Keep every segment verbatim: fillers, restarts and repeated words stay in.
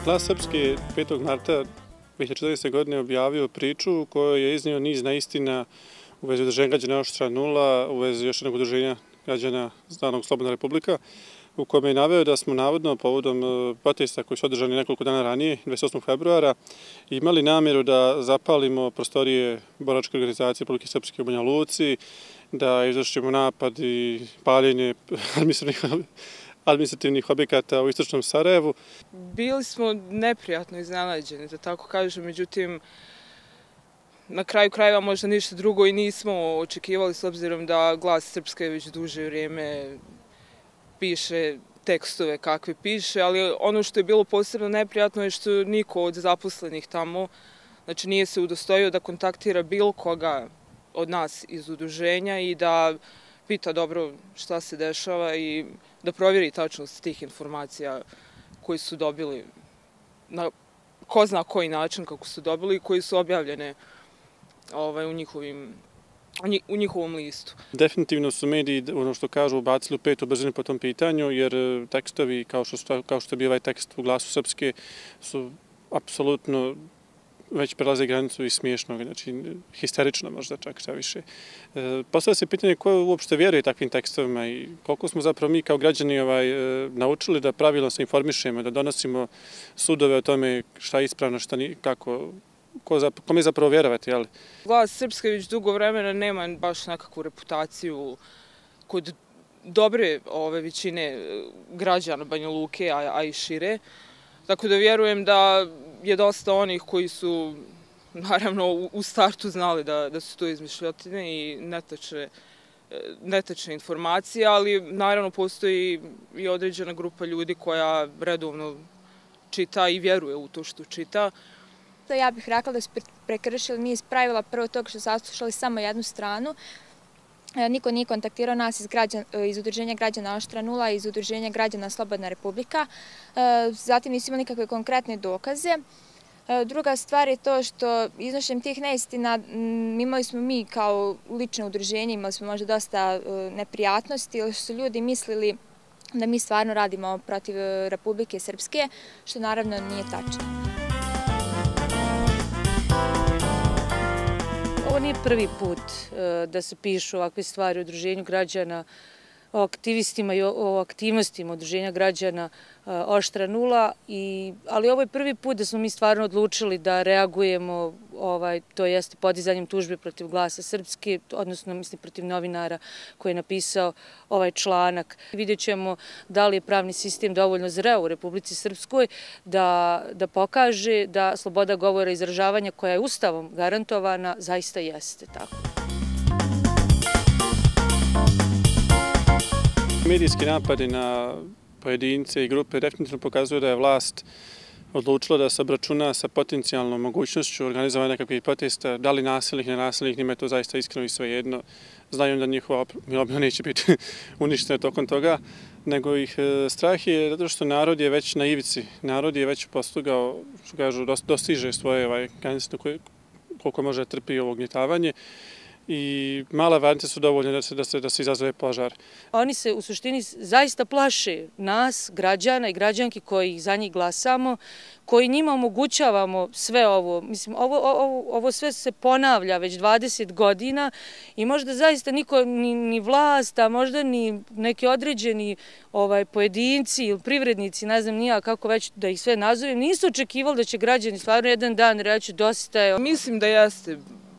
Glas Srpske petog marta dve hiljade četrnaeste. godine objavio priču u kojoj je iznio niz neistina u vezi udruženja građana Oštra nula, u vezi još jednog udruženja građana zvanog Slobodna Republika, u kome je naveo da smo navodno povodom protesta koji su održani nekoliko dana ranije, dvadeset osmog februara, imali namjeru da zapalimo prostorije boračke organizacije Republike Srpske u Banja Luci, da izvršimo napad i paljenje administrativnih objekata u istočnom Sarajevu. Bili smo neprijatno iznenađeni, da tako kažem, međutim, na kraju krajeva možda ništa drugo i nismo očekivali, s obzirom da Glas Srpske već duže vrijeme piše tekstove kakve piše, ali ono što je bilo posebno neprijatno je što niko od zaposlenih tamo, znači nije se udostojio da kontaktira bilo koga od nas iz udruženja i da pita dobro šta se dešava i da provjeri tačnost tih informacija koji su dobili na ko zna koji način kako su dobili i koji su objavljene ovaj, u, njihovim, u njihovom listu. Definitivno su mediji, ono što kažu, ubacili u petu brzinu po tom pitanju, jer tekstovi, kao što, kao što je bio ovaj tekst u Glasu Srpske, su apsolutno već prelaze granicu i smiješnog, znači histerično možda čak šta više. E, Postavlja se pitanje ko uopšte vjeruje takvim tekstovima i koliko smo zapravo mi kao građani ovaj, e, naučili da pravilno se informišemo, da donosimo sudove o tome šta je ispravno, šta nije, kako, ko za, kome zapravo vjerovati, jel? Glas Srpske već dugo vremena nema baš nekakvu reputaciju kod dobre ove većine građana Banja Luke, a, a i šire. Tako da vjerujem da je dosta onih koji su, naravno, u startu znali da, da su to izmišljotine i netačne, netačne informacije, ali naravno postoji i određena grupa ljudi koja redovno čita i vjeruje u to što čita. Ja bih rekla da su prekršili niz pravila, prvo toga što su saslušali samo jednu stranu. Niko nije kontaktirao nas iz, građan, iz udruženja građana Oštra nula i iz udruženja građana Slobodna Republika. Zatim nisu imali nikakve konkretne dokaze. Druga stvar je to što iznošenjem tih neistina imali smo mi kao lično udruženje, imali smo možda dosta neprijatnosti, jer su ljudi mislili da mi stvarno radimo protiv Republike Srpske, što naravno nije tačno. Ovo nije prvi put da se pišu ovakve stvari o udruženju građana, o aktivistima i o aktivnostima udruženja građana Oštra nula, ali ovo je prvi put da smo mi stvarno odlučili da reagujemo, ovaj, to jeste podizanjem tužbe protiv Glasa Srpske, odnosno mislim protiv novinara koji je napisao ovaj članak. Vidjet ćemo da li je pravni sistem dovoljno zreo u Republici Srpskoj da, da pokaže da sloboda govora i izražavanja koja je Ustavom garantovana zaista jeste tako. Medijski napadi na pojedince i grupe definitivno pokazuju da je vlast odlučila da se obračuna sa potencijalnom mogućnošću organizovanja nekakvih protesta, da li nasilnih, nenasilnih, njima je to zaista iskreno i svejedno. Znaju da njihova obnova neće biti uništena tokom toga, nego ih strah je zato što narod je već na ivici, narod je već postigao, što kažu, dostiže svoje ovaj, granice koliko može trpi ovo ugnjetavanje. I male varnice su dovoljne da se, da se, da se izazove požar. Oni se u suštini zaista plaše nas, građana i građanki koji za njih glasamo, koji njima omogućavamo sve ovo. Mislim, ovo, ovo, ovo sve se ponavlja već dvadeset godina i možda zaista niko, ni, ni vlast, a možda ni neki određeni ovaj, pojedinci ili privrednici, ne znam nija kako već da ih sve nazovem, nisu očekivali da će građani stvarno jedan dan reći dosta je. Mislim da jeste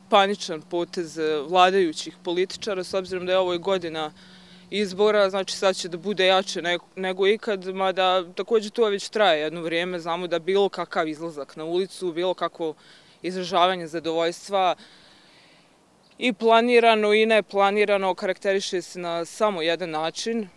paničan potez vladajućih političara, s obzirom da je ovo godina izbora, znači sad će da bude jače nego ikad, mada također to već traje jedno vrijeme, znamo da bilo kakav izlazak na ulicu, bilo kakvo izražavanje zadovoljstva i planirano i neplanirano karakteriše se na samo jedan način,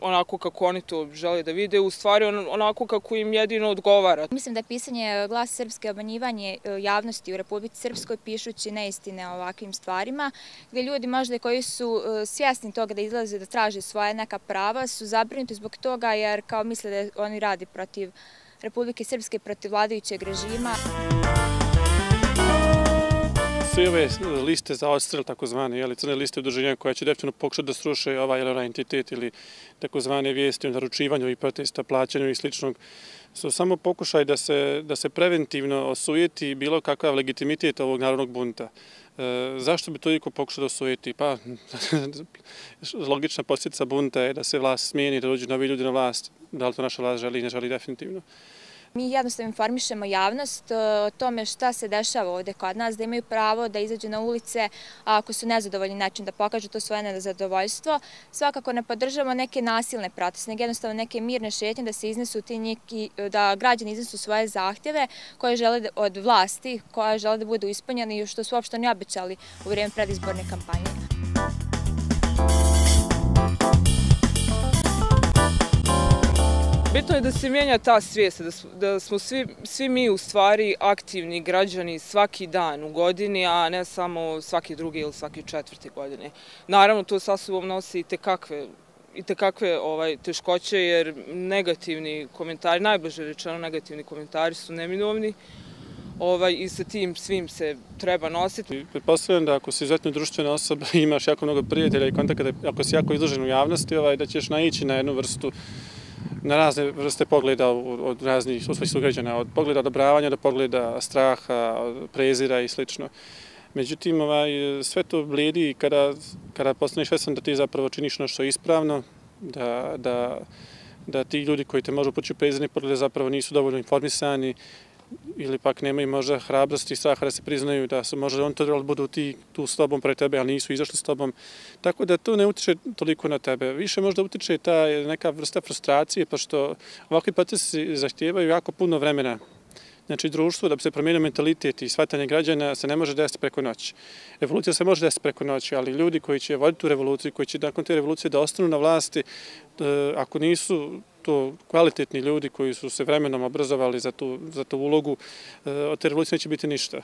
onako kako oni to žele da vide, u stvari onako kako im jedino odgovara. Mislim da je pisanje Glasa Srpske obmanjivanje javnosti u Republici Srpskoj pišući neistine o ovakvim stvarima, gdje ljudi možda koji su svjesni toga da izlaze da traže svoje neka prava su zabrinuti zbog toga jer kao misle da oni radi protiv Republike Srpske, protiv vladajućeg režima. Sve ove liste za odstrel, takozvane crne liste udruženja koja će definitivno pokušati da sruše ovaj ili onaj entitet ili takozvane vijesti o naručivanju i protesta, plaćanju i sličnog, su samo pokušaj da se, da se preventivno osujeti bilo kakav legitimitet ovog narodnog bunta. E, zašto bi to iko pokušao da osujeti? Pa, logična posljedica bunta je da se vlast smijeni, da dođu novi ljudi na vlast. Da li to naša vlast želi i ne želi definitivno. Mi jednostavno informišemo javnost o tome šta se dešava ovde kod nas, da imaju pravo da izađu na ulice, a ako su nezadovoljni način da pokažu to svoje nezadovoljstvo. Svakako ne podržavamo neke nasilne proteste, nego jednostavno neke mirne šetnje da se iznesu ti neki, da građani iznesu svoje zahtjeve koje žele od vlasti, koje žele da budu ispunjeni i što su uopšte ne obećali u vrijeme predizborne kampanje. Bitno je da se mijenja ta svijest, da smo svi, svi mi u stvari aktivni građani svaki dan u godini, a ne samo svaki drugi ili svaki četvrti godine. Naravno, to sa sobom nosi i tekakve, i tekakve ovaj, teškoće, jer negativni komentari, najbliže rečeno negativni komentari su neminovni. Ovaj, I sa tim svim se treba nositi. Pretpostavljam da ako si izuzetno društvena osoba i imaš jako mnogo prijatelja i kontakata, ako si jako izložen u javnosti, ovaj, da ćeš naići na jednu vrstu na razne vrste pogleda od raznih svojih sugrađana, od pogleda odobravanja do pogleda straha, prezira i slično. Međutim, ovaj, sve to blijedi kada, kada postaneš svjestan da ti zapravo činiš ono što je ispravno, da, da, da ti ljudi koji te možu poći u prezirne poglede zapravo nisu dovoljno informisani ili pak nemaju možda hrabrosti i straha da se priznaju da su možda on to trebali budu ti tu s tobom pred tebe, ali nisu izašli s tobom. Tako da to ne utiče toliko na tebe. Više možda utiče ta neka vrsta frustracije, pošto ovakvi procesi zahtijevaju jako puno vremena. Znači, društvo, da bi se promijenio mentalitet i shvatanje građana, se ne može desiti preko noći. Revolucija se može desiti preko noći, ali ljudi koji će voditi tu revoluciju, koji će nakon te revolucije da ostanu na vlasti, ako nisu to kvalitetni ljudi koji su se vremenom obrazovali za tu, za tu ulogu, od te revolucije neće biti ništa.